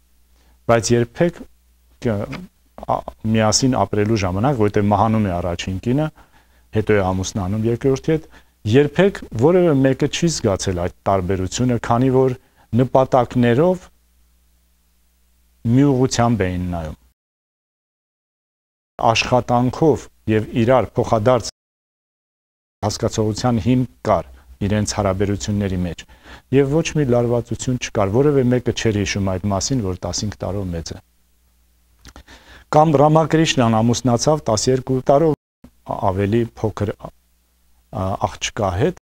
Բայց երբեք միասին ապրելու ժամանակ, որտեղ մահանում է առաջին կինը, հետո է ամուսնանում երկրորդի հետ, երբեք որևէ մեկը չի զգացել այդ տարբերությունը, քանի որ նպատակներով մի ուղղությամբ էին նայում։ Աշխատանքով եւ իրար փոխադարձ հասկացողության հիմք կար իրենց հարաբերությունների մեջ եւ ոչ մի լարվածություն չկար, որևէ մեկը չէր հիշում այդ մասին, որ տասնհինգ տարով մեծ է։ Կամ Ռամակրիշնան ամուսնացավ տասներկու տարով ավելի փոքր աղջկա հետ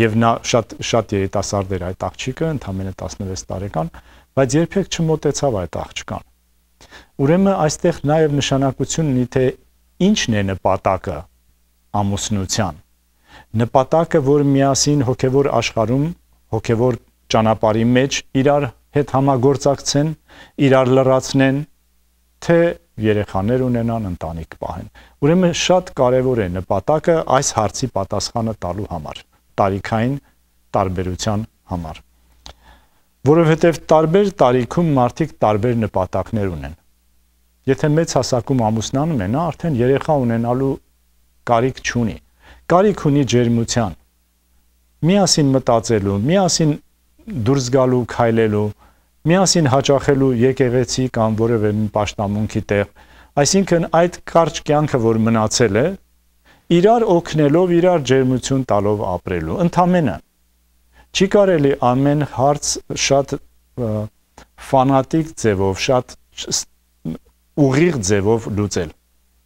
եւ նա շատ շատ երիտասարդ էր այդ աղջիկը, ընդամենը տասնվեց տարեկան, բայց երբեք չմոտեցավ այդ աղջկան։ Ուրեմն այստեղ նաեւ նշանակություն ունի, թե ինչն է նպատակը ամուսնության։ Նպատակը, որ միասին հոգևոր աշխարհում, հոգևոր ճանապարհի մեջ իրար հետ համագործակցեն, իրար լրացնեն, թե երեխաներ ունենան, ընտանիք պահեն։ Ուրեմն շատ կարևոր է նպատակը այս հարցի պատասխանը տալու համար, տարիքային տարբերության համար։ Որովհետև տարբեր տարիքում մարդիկ տարբեր նպատակներ ունեն։ Եթե մեծ հասակում ամուսնանում են, նա արդեն երեխա ունենալու կարիք չունի։ Կարիք ունի ջերմության, միասին մտածելու, միասին դուրս գալու, քայլելու, միասին հաճախելու եկեղեցի կամ որևէ մի պաշտամունքի տեղ, այսինքն այդ կարճ կյանքը, որ մնացել է, իրար օգնելով, իրար ջերմություն տալով ապրելու, ընդամենը։ Չի կարելի ամեն հարց շատ ֆանատիկ ձևով, շատ ուղիղ ձևով լուծել,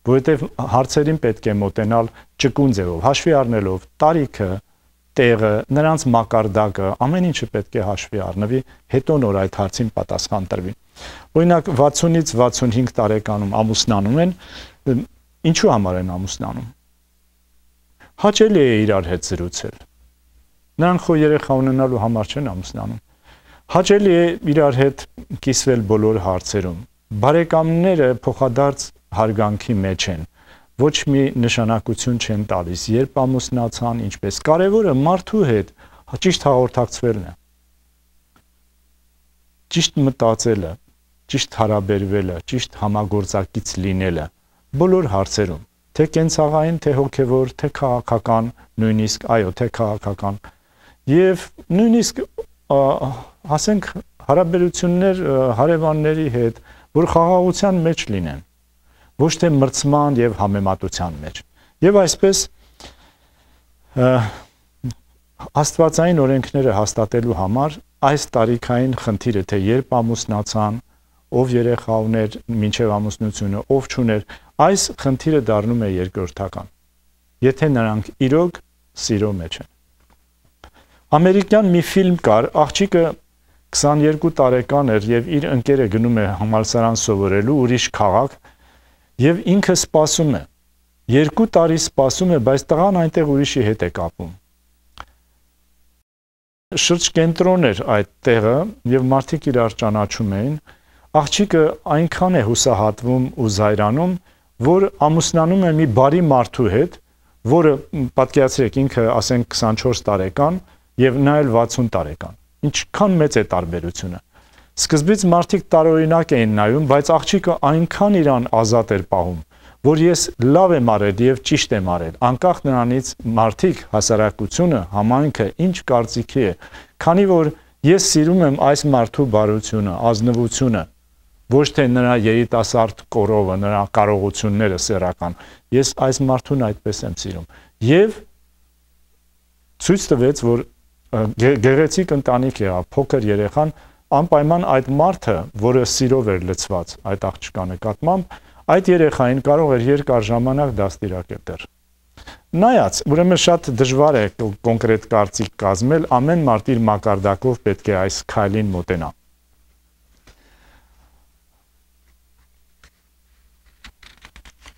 որովհետև հարցերին պետք է մոտենալ ճկուն ձևով, հաշվի առնելով տարիքը, տեղը, նրանց մակարդակը, ամեն ինչը պետք է հաշվի առնվի, հետո նոր այդ հարցին պատասխան տրվի։ Օրինակ վաթսունից վաթսունհինգ տարեկանում ամուսնանում են, ինչու համար են ամուսնանում։ Հաճելի է իրար հետ զրուցել։ Նրանք խո երեխա ունենալու համար չեն ամուսնանում։ Հաճելի է իրար հետ կիսվել բոլոր հարցերում։ Բարեկամները փոխադարձ հարգանքի մեջ են, ոչ մի նշանակություն չեն տալիս, երբ ամուսնացան, ինչպես կարևորը մարդու հետ ճիշտ հաղորդակցվելն է, ճիշտ մտածելը, ճիշտ հարաբերվելը, ճիշտ համագործակից լինելը բոլոր հարցերում, թե կենցաղային, թե հոգևոր, թե քաղաքական, նույնիսկ, այո, թե քաղաքական, եւ նույնիսկ ասենք հարաբերություններ հարևանների հետ, որ խաղաղության մեջ լինեն, ոչ թե մրցման եւ համեմատության մեջ։ Եվ այսպես աստվածային օրենքները հաստատելու համար այս տարիքային խնդիրը, թե երբ ամուսնացան, ով երեխա ուներ մինչև ամուսնությունը, ով չուներ, այս խնդիրը դառնում է երկրորդական, եթե նրանք իրոք սիրո մեջ են։ Ամերիկյան մի ֆիլմ կար, աղջիկը քսաներկու տարեկան էր եւ իր ընկերը գնում է համալսարան սովորելու ուրիշ քաղաք եւ ինքը սպասում է։ Երկու տարի սպասում է, բայց տղան այնտեղ ուրիշի հետ է կապում։ շրջկենտրոն էր այդ տեղը եւ մարդիկ իրար ճանաչում էին, աղջիկը այնքան է հուսահատվում ու զայրանում, որ ամուսնանում է մի բարի մարդու հետ, որը պատկերացրեք ինքը ասենք քսանչորս տարեկան եւ նա էլ վաթսուն տարեկան։ Ինչքան մեծ է տարբերությունը։ Սկզբից մարդիկ տարօրինակ էին նայում, բայց աղջիկը այնքան իրան ազատ էր պահում, որ ես լավ եմ արել եւ ճիշտ եմ արել, անկախ նրանից մարդիկ, հասարակությունը, համայնքը ինչ կարծիքի է, քանի որ ես սիրում եմ այս մարդու բարությունը, ազնվությունը, ոչ թե նրա երիտասարդ կորովը, նրա կարողությունները սեռական, ես այս մարդուն այդպես եմ սիրում։ Եվ ցույց տվեց, որ գեղեցիկ ընտանիք եղավ, փոքր երեխան անպայման այդ մարդը, որը սիրով էր լցված այդ աղջկա նկատմամբ, այդ երեխային կարող էր երկար ժամանակ դաստիարակել դեռ։ Նայած, ուրեմն շատ դժվար է կոնկրետ կարծիք կազմել, ամեն մարդ իր մակարդակով պետք է այս քայլին մոտենա։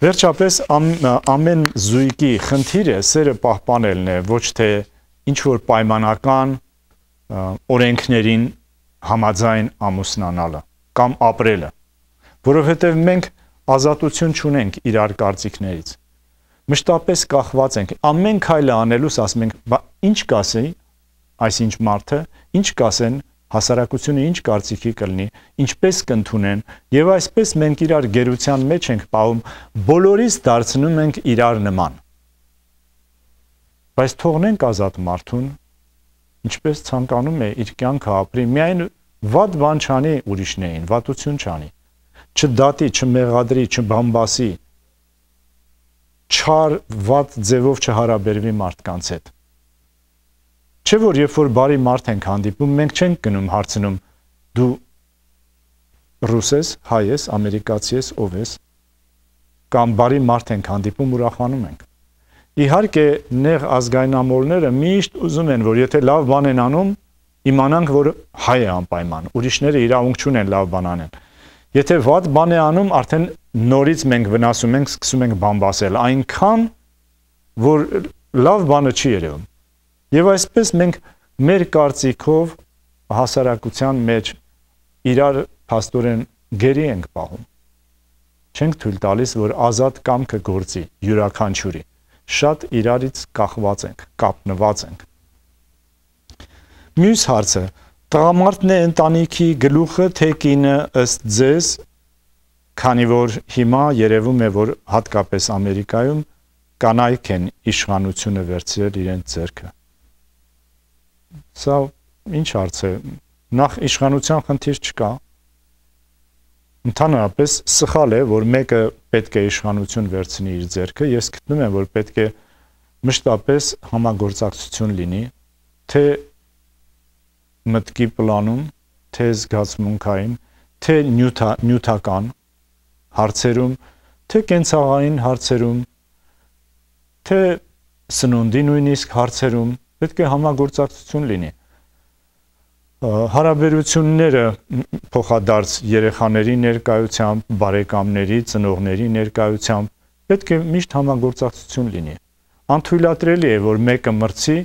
Վերջապես ամեն զույգի խնդիրը սերը պահպանելն է, ոչ թե ինչ որ պայմանական օրենքներին համաձայն ամուսնանալը կամ ապրելը, որովհետև մենք ազատություն չունենք իրար կարծիքներից։ Մշտապես կախված ենք, ամեն քայլը անելուց ասում ենք, բա ինչ կասի այսինչ մարդը, ինչ կասեն հասարակությունը ինչ կարծիքի կլինի, ինչպես կընդունեն, եւ այսպես մենք իրար գերության մեջ ենք պահում, բոլորից դարձնում ենք իրար նման։ Բայց թողնենք ազատ մարդուն, ինչպես ցանկանում է իր կյանքը ապրի, միայն վատ բան չանի ուրիշներին, վատություն չանի, չդատի, չմեղադրի, չբամբասի, չար վատ ձևով չհարաբերվի մարդկանց հետ։ Չէ որ երբ որ բարի մարդ ենք հանդիպում, մենք չենք գնում հարցնում դու ռուս ես, հայ ես, ամերիկացի ես, ով ես, կամ բարի մարդ ենք հանդիպում, ուրախանում ենք։ Իհարկե, նեղ ազգայնամոլները միշտ ուզում են, որ եթե լավ բան են անում, իմանանք, որ հայ է անպայման, ուրիշները իրավունք չունեն լավ բան անեն։ Եթե վատ բան է անում, արդեն նորից մենք վնասում ենք, սկսում ենք բամբասել, այնքան, որ լավ բանը չի երևում։ Եվ այսպես մենք մեր կարծիքով հասարակության մեջ իրար փաստորեն գերի ենք պահում։ Չենք թույլ տալիս, որ ազատ կամքը գործի յուրաքանչյուրի։ Շատ իրարից կախված ենք, կապնված ենք։ Մյուս հարցը, տղամարդն է ընտանիքի գլուխը, թե կինը ըստ ձեզ, քանի որ հիմա երևում է, որ հատկապես Ամերիկայում կանայք են իշխանությունը վերցրել իրենց ձեռքը։ Սա ինչ հարց է, նախ իշխանության խնդիր չկա, ընդհանրապես սխալ է, որ մեկը պետք է իշխանություն վերցնի իր ձեռքը, ես գտնում եմ, որ պետք է մշտապես համագործակցություն լինի, թե մտքի պլանում, թե զգացմունքային, թե նյութա, նյութական հարցերում, թե կենցաղային հարցերում, թե սնունդի նույնիսկ հարցերում, պետք է համագործակցություն լինի։ Հարաբերությունները փոխադարձ երեխաների ներկայությամբ, բարեկամների, ծնողների ներկայությամբ պետք է միշտ համագործակցություն լինի։ Անթույլատրելի է, որ մեկը մրցի,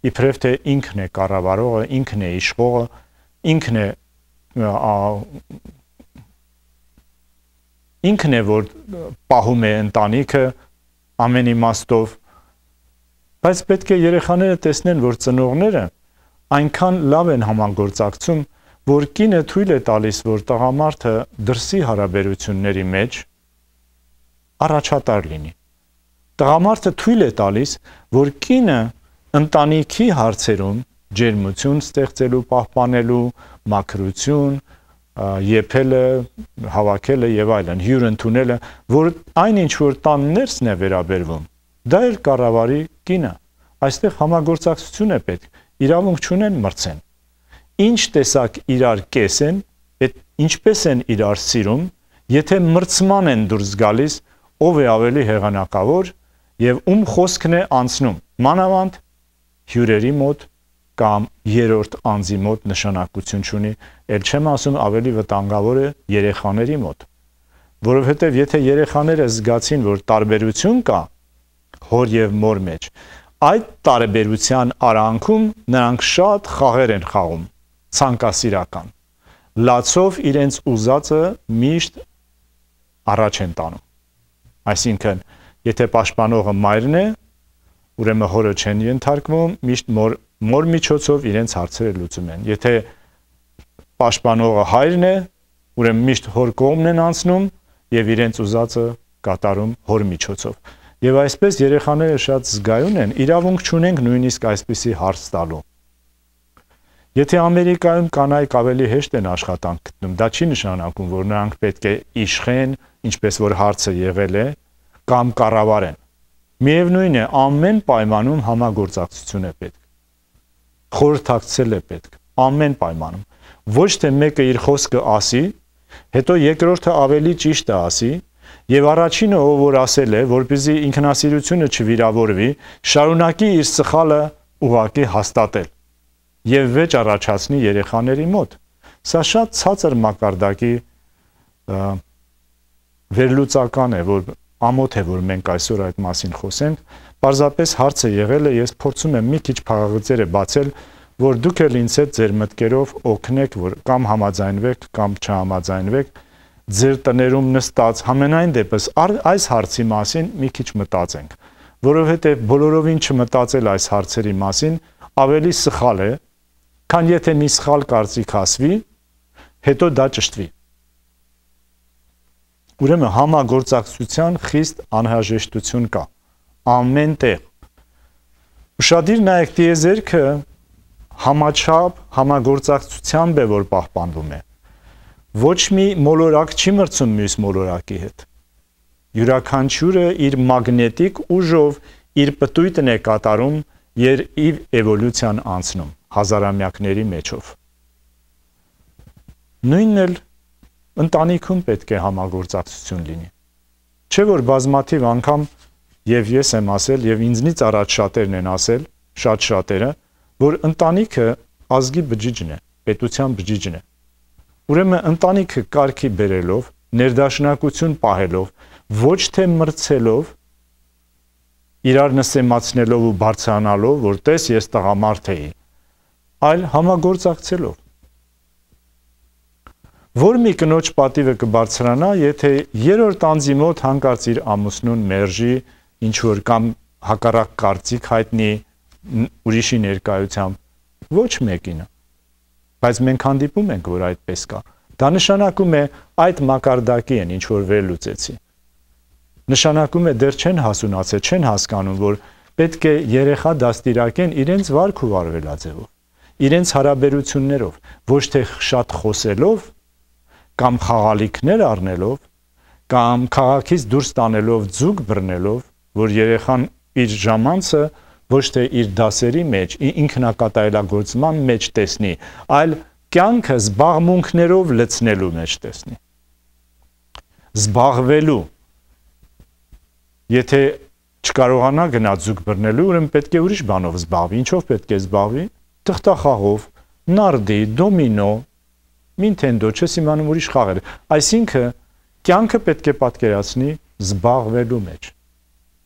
իբրև թե ինքն է կառավարողը, ինքն է իշխողը, ինքն է ինքն է, որ պահում է ընտանիքը ամեն իմաստով, բայց պետք է երեխաները տեսնեն, որ ծնողները այնքան լավ են համագործակցում, որ կինը թույլ է տալիս, որ տղամարդը դրսի հարաբերությունների մեջ առաջատար լինի։ Տղամարդը թույլ է տալիս, որ կինը ընտանիքի հարցերում ջերմություն ստեղծելու, պահպանելու, մաքրություն, եփելը, հավաքելը եւ այլն, հյուր ընդունելը, որ այնինչ որ տան ներսն է վերաբերվում, դա էլ կառավարի կինը։ Այստեղ համագործակցություն է պետք, իրավունք չունեն մրցեն։ Ինչ տեսակ իրար կես են, այդ ինչպես են իրար սիրում, եթե մրցման են դուրս գալիս, ով է ավելի հեղանակավոր եւ ում խոսքն է անցնում, մանավանդ հյուրերի մոտ կամ երրորդ անձի մոտ նշանակություն չունի, ել չեմ ասում ավելի վտանգավոր է երեխաների մոտ, որովհետև եթե երեխաները զգացին, որ տարբերություն կա հոր եւ մոր մեջ, այդ տարեբերության արանքում նրանք շատ խաղեր են խաղում, ցանկասիրական։ Լացով իրենց ուզածը միշտ առաջ են տանում։ Այսինքն, եթե պաշտպանողը մայրն է, ուրեմն հորը չեն ենթարկվում, միշտ մոր, մոր միջոցով իրենց հարցերը լուծում են։ Եթե պաշտպանողը հայրն է, ուրեմն միշտ հոր կողմն են անցնում եւ իրենց ուզածը կատարում հոր միջոցով։ Եվ այսպես երեխաները շատ զգայուն են, իրավունք չունենք նույնիսկ այսպիսի հարց տալու։ Եթե Ամերիկայում կանայք ավելի հեշտ են աշխատանք գտնում, դա չի նշանակում, որ նրանք պետք է իշխեն, ինչպես որ հարցը եղել է, կամ կառավարեն։ Միևնույն է, ամեն պայմանում համագործակցություն է պետք։ Խորհրդակցել է պետք, ամեն պայմանում։ Ոչ թե մեկը իր խոսքը ասի, հետո երկրորդը ավելի ճիշտը ասի, եւ առաջինը ով որ ասել է, որպեսզի ինքնասիրությունը չվիրավորվի, շարունակի իր սխալը ուղակի հաստատել եւ վեճ առաջացնի երեխաների մոտ։ Սա շատ ցածր մակարդակի վերլուծական է, որ ամոթ է, որ մենք այսօր այդ մասին խոսենք։ Պարզապես հարցը եղել է, ես փորձում եմ մի քիչ փաղաղձերը բացել, որ դուք էլ ինձ հետ ձեր մտքերով օգնեք, որ կամ համաձայնվեք, կամ չհամաձայնվեք, ձեր տներում նստած համենայն դեպս այս հարցի մասին մի քիչ մտածենք, որովհետև բոլորովին չմտածել այս հարցերի մասին ավելի սխալ է, քան եթե մի սխալ կարծիք ասվի, հետո դա ճշտվի։ Ուրեմն համագործակցության խիստ անհրաժեշտություն կա ամեն տեղ։ Ուշադիր նայեք, տիեզերքը համաչափ համագործակցությամբ է, որ պահպանվում է։ Ոչ մի մոլորակ չի մրցում մյուս մոլորակի հետ։ Յուրաքանչյուրը իր մագնետիկ ուժով իր պտույտն է կատարում եւ իր էվոլյուցիան անցնում հազարամյակների մեջով։ Նույնն էլ ընտանիքում պետք է համագործակցություն լինի։ Չէ որ բազմաթիվ անգամ եւ ես եմ ասել եւ ինձնից առաջ շատերն են ասել, շատ շատերը, որ ընտանիքը ազգի բջիջն է, պետության բջիջն է։ Ուրեմն ընտանիքը կարգի բերելով, ներդաշնակություն պահելով, ոչ թե մրցելով, իրար նսեմացնելով ու բարձրանալով, որ տես ես տղամարդ էի, այլ համագործակցելով։ Որ մի կնոջ պատիվը կբարձրանա, եթե երրորդ անձի մոտ հանկարծ իր ամուսնուն մերժի, ինչ որ կամ հակառակ կարծիք հայտնի ուրիշի ներկայությամբ, ոչ մեկինը։ Բայց մենք հանդիպում ենք, որ այդպես կա։ Դա նշանակում է այդ մակարդակի են, ինչ որ վերլուծեցի։ Նշանակում է դեռ չեն հասունացել, չեն հասկանում, որ պետք է երեխա դաստիարակեն իրենց վարք ու վարվելաձևով, իրենց հարաբերություններով, ոչ թե շատ խոսելով, կամ խաղալիքներ առնելով, կամ քաղաքից դուրս տանելով ձուկ բռնելով, որ երեխան իր ժամանցը ոչ թե իր դասերի մեջ, ինքնակատարելագործման մեջ տեսնի, այլ կյանքը զբաղմունքներով լցնելու մեջ տեսնի։ Զբաղվելու։ Եթե չկարողանա գնա ձուկ բռնելու, ուրեմն պետք է ուրիշ բանով զբաղվի։ Ինչով պետք է զբաղվի։ Թղթախաղով, նարդի, դոմինո, Nintendo, չես իմանում ուրիշ խաղեր։ Այսինքն կյանքը պետք է պատկերացնի զբաղվելու մեջ,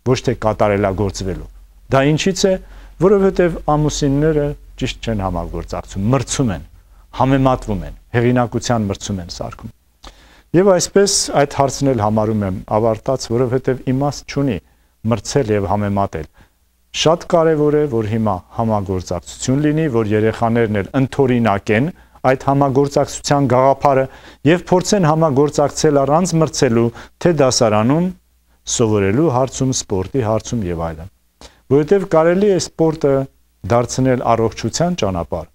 ոչ թե կատարելագործվելու։ Դա ինչից է, որովհետև ամուսինները ճիշտ չեն համագործակցում, մրցում են, համեմատվում են, հեղինակության մրցում են սարքում։ Եվ այսպես այդ հարցն էլ համարում եմ ավարտած, որովհետև իմաստ չունի մրցել եւ համեմատել։ Շատ կարևոր է, որ հիմա համագործակցություն լինի, որ երեխաներն էլ ընդօրինակեն այդ համագործակցության գաղափարը եւ փորձեն համագործակցել առանց մրցելու, թե դասարանում, սովորելու հարցում, սպորտի հարցում եւ այլն։ Որովհետեւ կարելի է սպորտը դարձնել առողջության ճանապարհ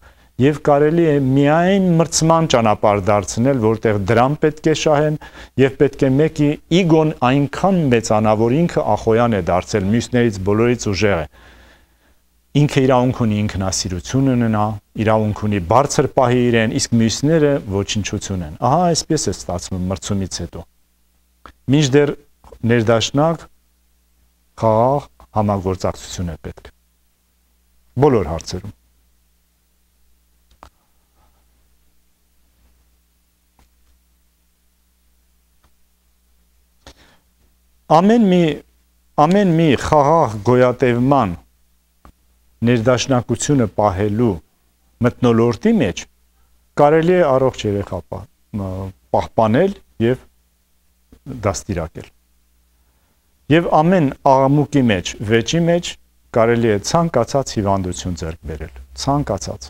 եւ կարելի է միայն մրցման ճանապարհ դարձնել, որտեղ դրամ պետք է շահեն եւ պետք է մեկի իգոն այնքան մեծանա, որ ինքը ախոյան է դարձել, մյուսներից բոլորից ուժեղ է։ Ինքը իրավունք ունի ինքնասիրություն ունենա, իրավունք ունի բարձր պահի իրեն, իսկ մյուսները ոչնչություն են։ Ահա այսպես է ստացվում մրցումից հետո։ Մինչդեռ ներդաշնակ խաղաղ համագործակցություն է պետք։ Բոլոր հարցերում։ Ամեն մի ամեն մի խաղաղ գոյատևման ներդաշնակությունը պահելու մթնոլորտի մեջ կարելի է առողջ երեխա պահպանել եւ դաստիարակել։ Եվ ամեն աղմուկի մեջ, վեճի մեջ կարելի է ցանկացած հիվանդություն ձեռք բերել, ցանկացած։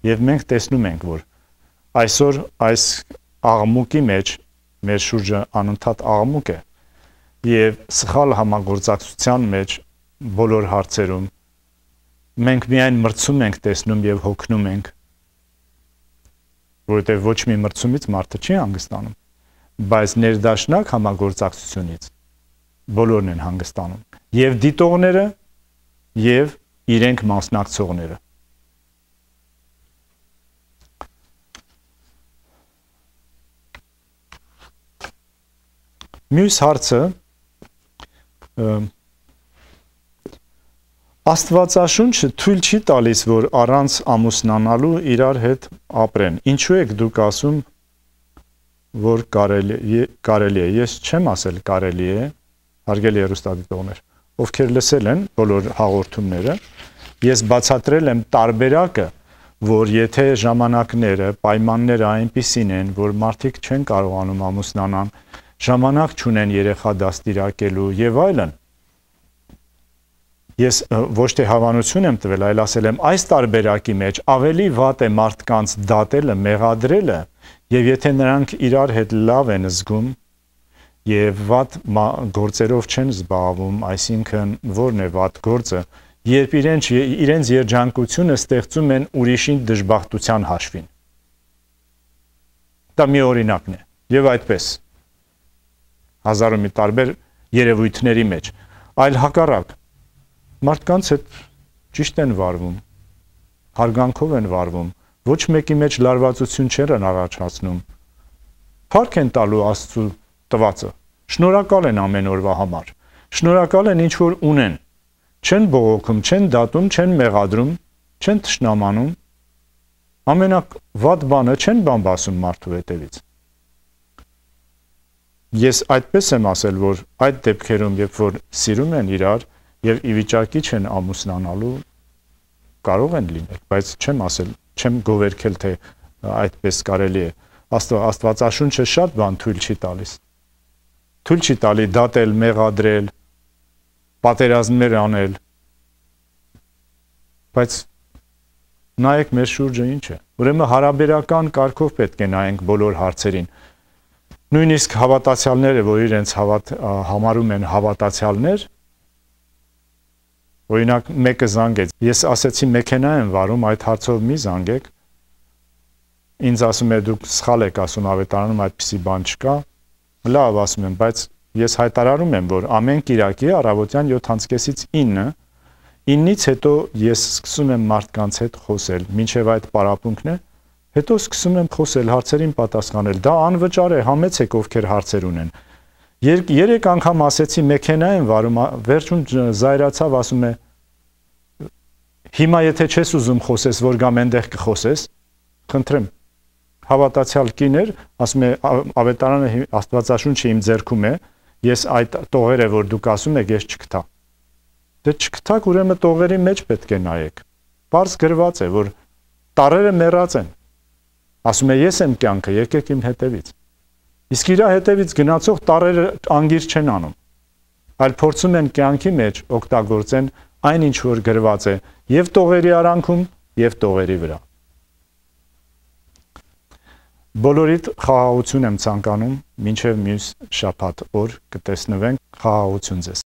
Եվ մենք տեսնում ենք, որ այսօր այս աղմուկի մեջ մեր շուրջը անընդհատ աղմուկ է եւ սխալ համագործակցության մեջ բոլոր հարցերում մենք միայն մրցում ենք տեսնում եւ հոգնում ենք, որովհետեւ ոչ մի մրցումից մարդը չի հանգստանում, բայց ներդաշնակ համագործակցությունից բոլորն են հանգստանում, եւ դիտողները եւ իրենք մասնակցողները։ Մյուս հարցը Աստվածաշունչը թույլ չի տալիս, որ առանց ամուսնանալու իրար հետ ապրեն։ Ինչու եք դուք ասում, որ կարելի կարելի է։ Ես չեմ ասել կարելի է, հարգելի հեռուստադիտողներ, ովքեր լսել են բոլոր հաղորդումները, ես բացատրել եմ տարբերակը, որ եթե ժամանակները, պայմանները այնպիսին են, որ մարդիկ չեն կարողանում ամուսնանան, ժամանակ չունեն երեխա դաստիարակելու եւ այլն։ Ես ոչ թե հավանություն եմ տվել, այլ ասել եմ այս տարբերակի մեջ ավելի վատ է մարդկանց դատելը, մեղադրելը, եւ եթե նրանք իրար հետ լավ են զգում եւ վատ գործերով չեն զբաղվում, այսինքն ո՞րն է վատ գործը, երբ իրենց իրենց երջանկությունը ստեղծում են ուրիշին դժբախտության հաշվին։ Դա մի օրինակն է եւ այդպես հազարու մի տարբեր երևույթների մեջ, այլ հակառակ մարդկանց հետ ճիշտ են վարվում, հարգանքով են վարվում, ոչ մեկի մեջ լարվածություն չեն առաջացնում, փառք են տալու Աստծու տվածը, շնորհակալ են ամեն օրվա համար, շնորհակալ են ինչ որ ունեն, չեն բողոքում, չեն դատում, չեն մեղադրում, չեն թշնամանում, ամենավատ բանը չեն բամբասում մարդու հետևից։ Ես այդպես եմ ասել, որ այդ դեպքերում, երբ որ սիրում են իրար եւ ի վիճակի չեն ամուսնանալու, կարող են լինել, բայց չեմ ասել, չեմ գովերքել, թե այդպես կարելի է։ Աստվածաշունչը շատ բան թույլ չի տալիս։ Թույլ չի տալի դատել, մեղադրել, պատերազմներ անել։ Բայց նայեք մեր շուրջը ինչ է։ Ուրեմն հարաբերական կարգով պետք է նայենք բոլոր հարցերին։ Նույնիսկ հավատացյալները, որ իրենց հավատ, համարում են հավատացյալներ, օրինակ մեկը զանգեց, ես ասեցի մեքենա եմ վարում, այդ հարցով մի զանգեք, ինձ ասում է դուք սխալ եք ասում ավետարանում այդպիսի բան չկա, լավ ասում եմ, բայց ես հայտարարում եմ, որ ամեն կիրակի առավոտյան յոթից ինը, ինից հետո ես սկսում եմ մարդկանց հետ խոսել, մինչև այդ պարապմունքն է, հետո սկսում եմ խոսել, հարցերին պատասխանել, դա անվճար է, համեցեք ովքեր հարցեր ունեն։ Երեք անգամ ասեցի մեքենա եմ վարում, վերջում զայրացավ, ասում է հիմա եթե չես ուզում խոսես, որ գամ այնտեղ կխոսես, խնդրեմ, հավատացյալ կին էր, ասում է ավետարանը Աստվածաշունչը իմ ձեռքում է, ես այդ տողերը, որ դուք ասում եք, ես չկտա։ Դե չկտակ, ուրեմն տողերի մեջ պետք է նայեք։ Պարզ գրված է, որ տարերը մեռած են։ Ասում է ես եմ կյանքը, եկեք իմ հետևից։ Իսկ իր հետևից գնացող տարերը անգիր չեն անում, այլ փորձում են կյանքի մեջ օգտագործեն այն ինչ որ գրված է եւ տողերի արանքում եւ տողերի վրա։ Բոլորիդ խաղաղություն եմ ցանկանում, մինչև մյուս շաբաթ օր կտեսնվենք, խաղաղություն ձեզ։